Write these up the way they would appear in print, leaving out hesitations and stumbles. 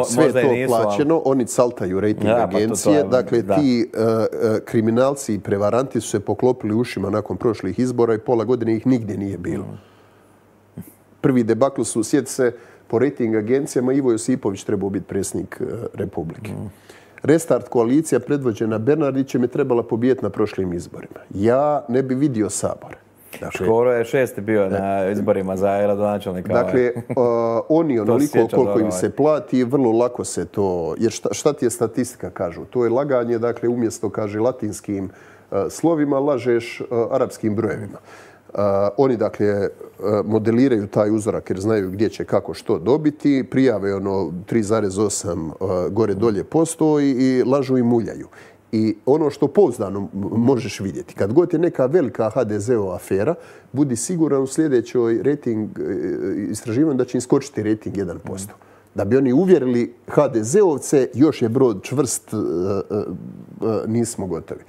Sve je to plaćeno, oni saltaju rating agencije. Dakle, ti kriminalci i prevaranti su se poklopili ušima nakon prošlih izbora i pola godine ih nigdje nije bilo. Prvi debakl su, sjeti se, po rating agencijama Ivo Josipović trebao biti predsjednik Republike. Restart koalicija predvođena Bernardićem je trebala pobijeti na prošlim izborima. Ja ne bi vidio Sabor. Škoro je 6. bio na izborima za gradonačelnika. Dakle, oni onoliko koliko im se plati, vrlo lako se to... Jer šta ti je statistika, kažu? To je laganje, dakle, umjesto, kaže, latinskim slovima, lažeš arapskim brojevima. Oni, dakle, modeliraju taj uzorak jer znaju gdje će kako što dobiti, prijave ono 3,8 gore-dolje posto i lažu i muljaju. I ono što pouzdano možeš vidjeti, kad god je neka velika HDZ-ova afera, budi siguran u sljedećoj rating istraživanju da će im skočiti rating 1%. Da bi oni uvjerili HDZ-ovce, još je brod čvrst, nismo gotovi.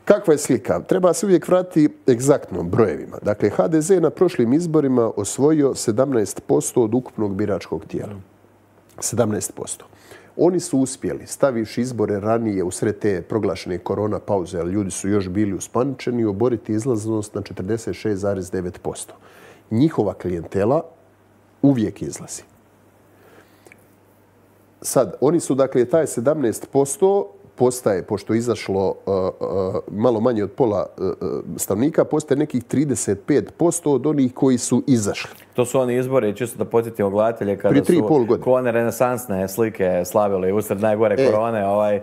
Kakva je slika? Treba se uvijek vratiti egzaktno brojevima. Dakle, HDZ je na prošlim izborima osvojio 17% od ukupnog biračkog tijela. 17%. Oni su uspjeli, stavivši izbore ranije usred te proglašene korona pauze, ali ljudi su još bili uspaničeni, oboriti izlaznost na 46,9%. Njihova klijentela uvijek izlazi. Sad, oni su, dakle, taj 17% postaje, pošto je izašlo malo manje od pola stanovnika, postaje nekih 35% od onih koji su izašli. To su oni izbori, čisto da podsjetimo gledatelje, kada su ko one renesansne slike slavili usred najgore korone,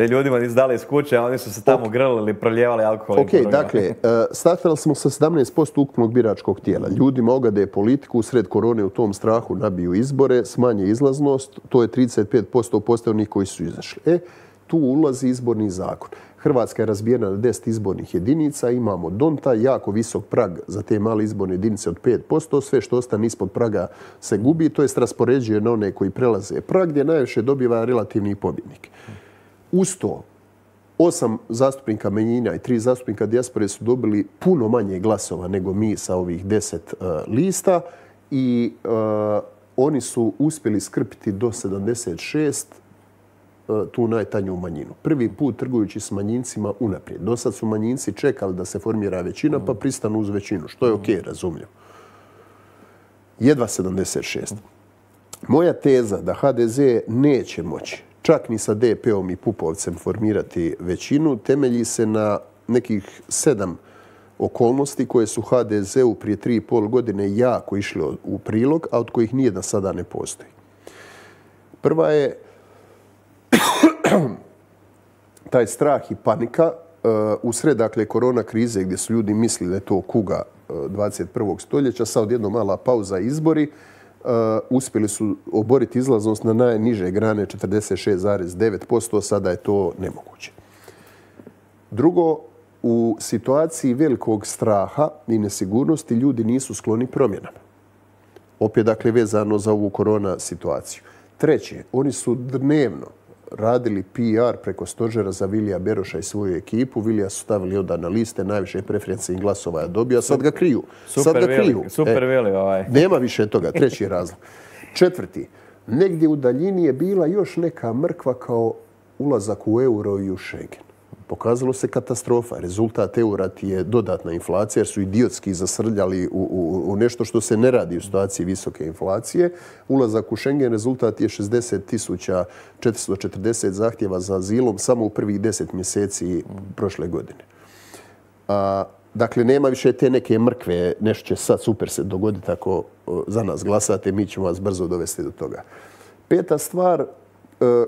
ljudima izdali iz kuće, oni su se tamo grlili, proljevali alkohol. Ok, dakle, startali smo sa 17% ukupnog biračkog tijela. Ljudima ogade politiku, usred korone u tom strahu nabiju izbore, smanje izlaznost, to je 35% postaje onih koji su izašli. Tu ulazi izborni zakon. Hrvatska je razbijena na 10 izbornih jedinica, imamo donta, jako visok prag za te male izborne jedinice od 5%, sve što ostane ispod praga se gubi, to jest raspoređuje na one koji prelaze prag, gdje najviše dobiva relativni pobjednik. Uz to, 8 zastupnika manjina i 3 zastupnika dijaspore su dobili puno manje glasova nego mi sa ovih 10 lista i oni su uspjeli skrpiti do 76 tu najtanju manjinu. Prvi put trgujući s manjincima unaprijed. Do sad su manjinci čekali da se formira većina pa pristanu uz većinu, što je ok, razumljivo. Jedva 76. Moja teza da HDZ neće moći čak ni sa DP-om i Pupovcem formirati većinu temelji se na nekih 7 okolnosti koje su HDZ-u prije 3,5 godine jako išli u prilog, a od kojih nijedna sada ne postoji. Prva je taj strah i panika usred, dakle, korona krize gdje su ljudi mislili da je to kuga 21. stoljeća, sad odjednom mala pauza izbori, uspjeli su oboriti izlaznost na najniže grane 46,9%, sada je to nemoguće. Drugo, u situaciji velikog straha i nesigurnosti ljudi nisu skloni promjenama. Opet, dakle, vezano za ovu korona situaciju. Treće, oni su dnevno radili PR preko stožera za Vilija Beroša i svoju ekipu. Vilija su stavili onda na liste, najviše preferencijnih glasova je dobio, a sad ga kriju. Super Vili. Nema više toga. Treći razlog. Četvrti, negdje u daljini je bila još neka mrkva kao ulazak u euro i u Schengen. Pokazalo se katastrofa. Rezultat eura ti je dodatna inflacija jer su idiotski zasrljali u nešto što se ne radi u situaciji visoke inflacije. Ulazak u Schengen rezultat je 60.440 zahtjeva za azilom samo u prvih 10 mjeseci prošle godine. Dakle, nema više te neke mrkve, nešto će sad super se dogoditi ako za nas glasate, mi ćemo vas brzo dovesti do toga. Peta stvar,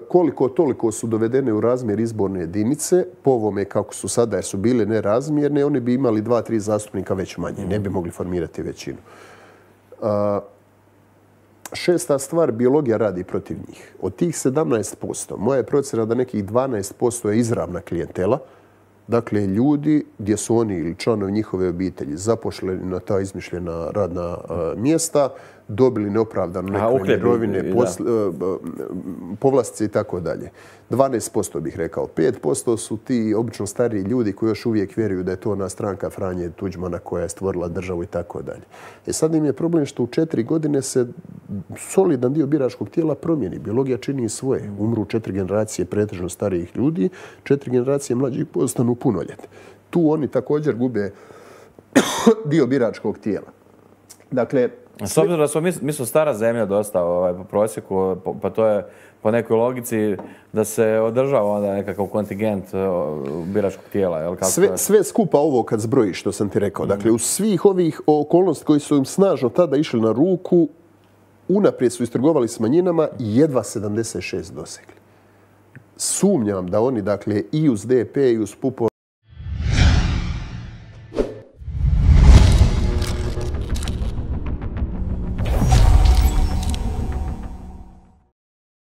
koliko toliko su dovedene u razmjer izborne jedinice, po ovome kako su sada, jer su bile nerazmjerne, oni bi imali 2-3 zastupnika već manje, ne bi mogli formirati većinu. Šesta stvar, biologija radi protiv njih. Od tih 17%, moja je procjena da nekih 12% je izravna klijentela, dakle, ljudi gdje su oni ili članovi njihove obitelji zaposleni na ta izmišljena radna mjesta, dobili neopravdano neke mirovine, povlastice i tako dalje. 12% bih rekao. 5% su ti obično stariji ljudi koji još uvijek vjeruju da je to ona stranka Franje Tuđmana koja je stvorila državu i tako dalje. Sad im je problem što u 4 godine se solidan dio biračkog tijela promijeni. Biologija čini svoje. Umru 4 generacije pretežno starijih ljudi, 4 generacije mlađih postanu punoljetni. Tu oni također gube dio biračkog tijela. Dakle, s obzirom da smo mi su stara zemlja dosta po prosjeku, pa to je po nekoj logici da se održava onda nekakav kontingent biračkog tijela. Sve skupa ovo kad zbrojiš, što sam ti rekao. Dakle, u svih ovih okolnosti koji su im snažno tada išli na ruku, unaprijed su istrgovali s manjinama i jedva 76 dosegli. Sumnjam da oni, dakle, i uz DP i uz PUP